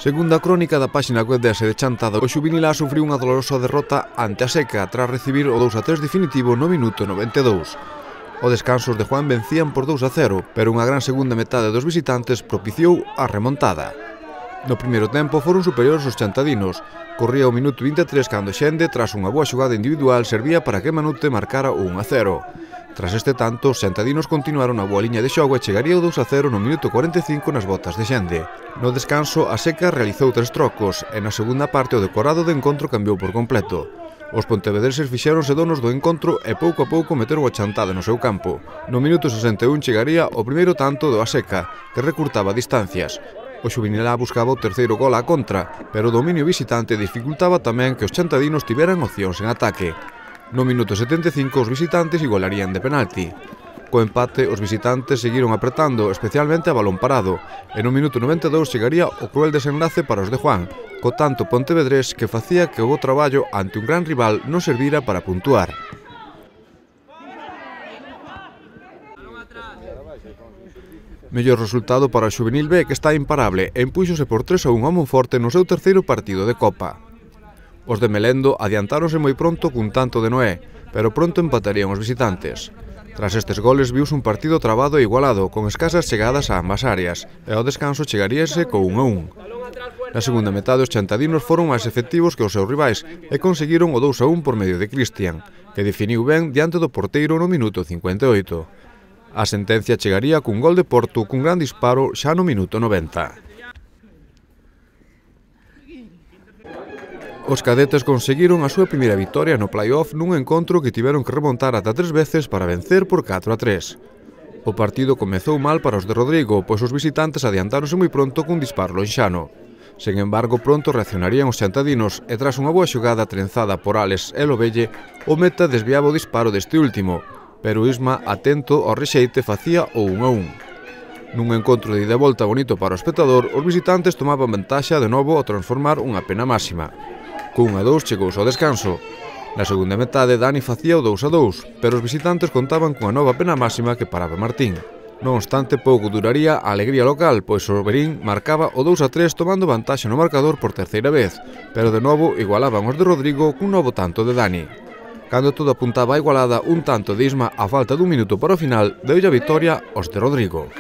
Segunda crónica da páxina web de Ase de Chantada, o Xuvinilá sufriu unha dolorosa derrota ante a Seca tras recibir o 2-3 definitivo no minuto 92. O descansos de Juan vencían por 2-0, pero unha gran segunda metade dos visitantes propiciou a remontada. No primeiro tempo foron superiores os chantadinos. Corría o minuto 23 cando Xende, tras unha boa xogada individual, servía para que Manute marcara o 1-0. Tras este tanto, os xantadinos continuaron a boa liña de xogo e chegaría o 2-0 no minuto 45 nas botas de Xende. No descanso, a Seca realizou 3 trocos e na segunda parte o decorado do encontro cambiou por completo. Os pontevedreses fixéronse donos do encontro e pouco a pouco meteron o Chantada no seu campo. No minuto 61 chegaría o primeiro tanto do Aseca, que recurtaba distancias. O Xuvinilá buscaba o terceiro gol á contra, pero o dominio visitante dificultaba tamén que os chantadinos tiveran opcións en ataque. No minuto 75 os visitantes igualarían de penalti. Co empate, os visitantes seguiron apretando, especialmente a balón parado, e no minuto 92 chegaría o cruel desenlace para os de Juan, co tanto pontevedrés que facía que o bo traballo ante un gran rival non servira para puntuar. Mellor resultado para o Xuvenil B, que está imparable e impúxose por 3-1 a Monforte no seu terceiro partido de Copa. Os de Melendo adiantáronse moi pronto cun tanto de Noé, pero pronto empatarían os visitantes. Tras estes goles viuse un partido trabado e igualado, con escasas chegadas a ambas áreas, e ao descanso chegaríase co 1-1. Na segunda metade os chantadinos foron máis efectivos que os seus rivais e conseguiron o 2-1 por medio de Cristian, que definiu ben diante do porteiro no minuto 58. A sentencia chegaría cun gol de Porto cun gran disparo xa no minuto 90. Os cadetes conseguiron a súa primeira vitoria no play-off nun encontro que tiveron que remontar ata 3 veces para vencer por 4-3. O partido comezou mal para os de Rodrigo, pois os visitantes adiantáronse moi pronto cun disparo lonxano. Sen embargo, pronto reaccionarían os chantadinos e tras unha boa xogada trenzada por Alex e Lovelle, o meta desviaba o disparo deste último, pero Isma, atento ao rexeite, facía o 1-1. Nun encontro de ida e volta bonito para o espectador, os visitantes tomaban vantaxa de novo ao transformar unha pena máxima. Cun 1-2 chegouse ao descanso. Na segunda metade, Dani facía o 2-2, pero os visitantes contaban cunha nova pena máxima que paraba Martín. Non obstante, pouco duraría a alegría local, pois o Berín marcaba o 2-3 tomando vantaxe no marcador por terceira vez, pero de novo igualaban os de Rodrigo cun novo tanto de Dani. Cando todo apuntaba a igualada, un tanto de Isma a falta dun minuto para o final deulle a vitoria aos de Rodrigo.